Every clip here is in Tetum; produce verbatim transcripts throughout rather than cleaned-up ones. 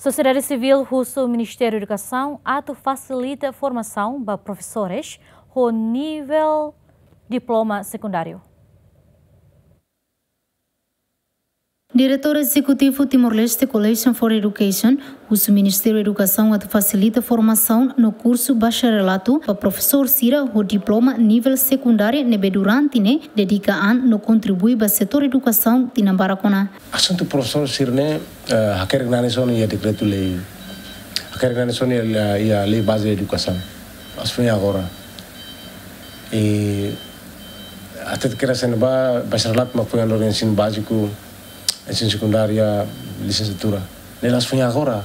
Sosiedade sivíl husu Ministériu Edukasaun atu fasilita formasaun ba profesores ho nivel diploma sekundáriu. Diretór Ezekutivu Timor-Leste Coalition for Education husu Ministériu Edukasaun atu fasilita formasaun no kursu bacharelatu ba profesór sira ho diploma nivel sekundáriu ne'ebé durante ne'e dedika an no kontribui ba setór edukasaun tinan barak ona. Asuntu profesór sira-ne'e, eh, hakerek nanis ona iha dekretu-lei. Hakerek nanis ona iha, iha lei baze edukasaun. La'ós foin agora. I até kedas ne'ebá, bacharelatu mak foin halo ensinu báziku, ensinu sekundáriu, lisensiatura. Ne'e la'ós foin agora.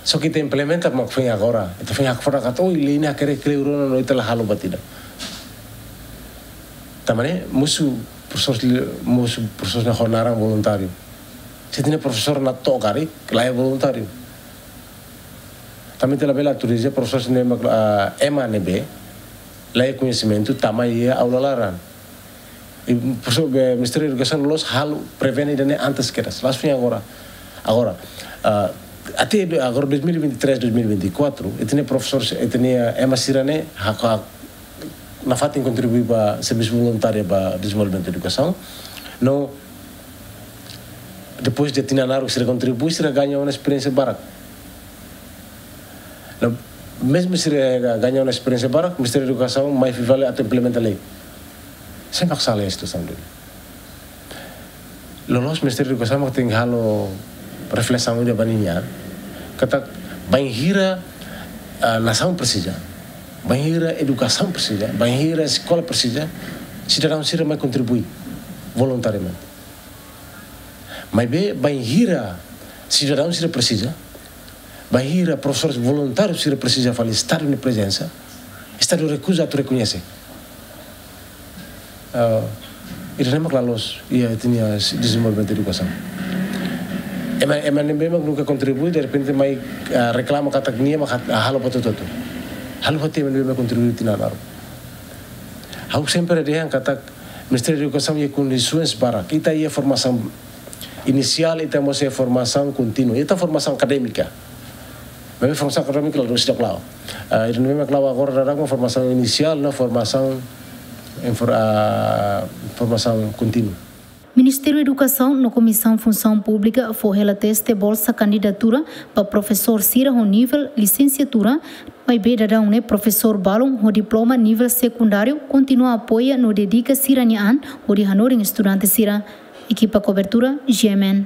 Só ke ita implementa mak foin agora. Ita foin hakfodak katak, oh, lei ne'e hakerek kleur ona no ita la halo buat ida. Tanba ne'e, mosu profesór, mosu profesór ne'e ho naran voluntáriu. Se ita-nia profesór natoon karik, laiha voluntáriu. Tanba ita labele autoriza profesór ne'e mak, ah, ema ne'ebé laiha koñesimentu tama iha aula laran. I profesór, eh, Ministériu Edukasaun la'ós halo prevene ida-ne'e antes kedas. La'ós foin agora. Agora, ah, até agora dois mil e vinte e três, dois mil e vinte e quatro, ita-nia profesór, ita-nia ema sira-ne'e hak, hak nafatin kontribui ba servisu voluntáriu ba dezenvolvimentu edukasaun. No depois de tinan naruk sira kontribui, sira gaña ona esperiénsia barak. No mezmu sira gaña ona esperiénsia barak, Ministériu Edukasaun mai fila fali atu implementa lei. Sé mak sala iha situasaun ne'e? Loloos Ministériu Edukasaun mak tenke halo reflesaun ida ba ninia an. Katak bainhira, ah, nasaun presiza, bainhira edukasaun presiza, bainhira eskola presiza, sidadaun sira mai kontribui voluntariamente. Maibé bainhira sidadaun sira presiza, bainhira profesores voluntáriu sira presiza fali Estadu nia prezensa, Estadu rekuza atu rekoñese. Ah, ida-ne'e mak la loos iha ita-nia dezenvolvimentu edukasaun. Ema, ema ne'ebé mak nunka kontribui, derrepente mai, ah, reklama katak nia mak hat-, ah, halo buat hotu-hotu. Halo buat ema ne'ebé mak kontribui tinan naruk. Ha'u sempre dehan katak Ministériu Edukasaun iha kondisoens barak. Ita iha formasaun inisiál, ita mós iha formasaun kontínua. Ita formasaun akadémika. Maibé formasaun akadémika la dús dak lau. Ah, ida-ne'e mak la'o agora daudaun formasaun inisiál no formasaun infor-, ah, formasaun kontínua. Ministériu Edukasaun no Komisaun Funsaun Públika fó hela teste bolsa kandidatura ba profesór sira ho nivel lisensiatura, maibé daudaun ne'e profesór balun ho diploma nivel sekundáriu kontinua apoia no dedika sira-nia an hodi hanorin estudante sira. Ekipa kobertura, G M N.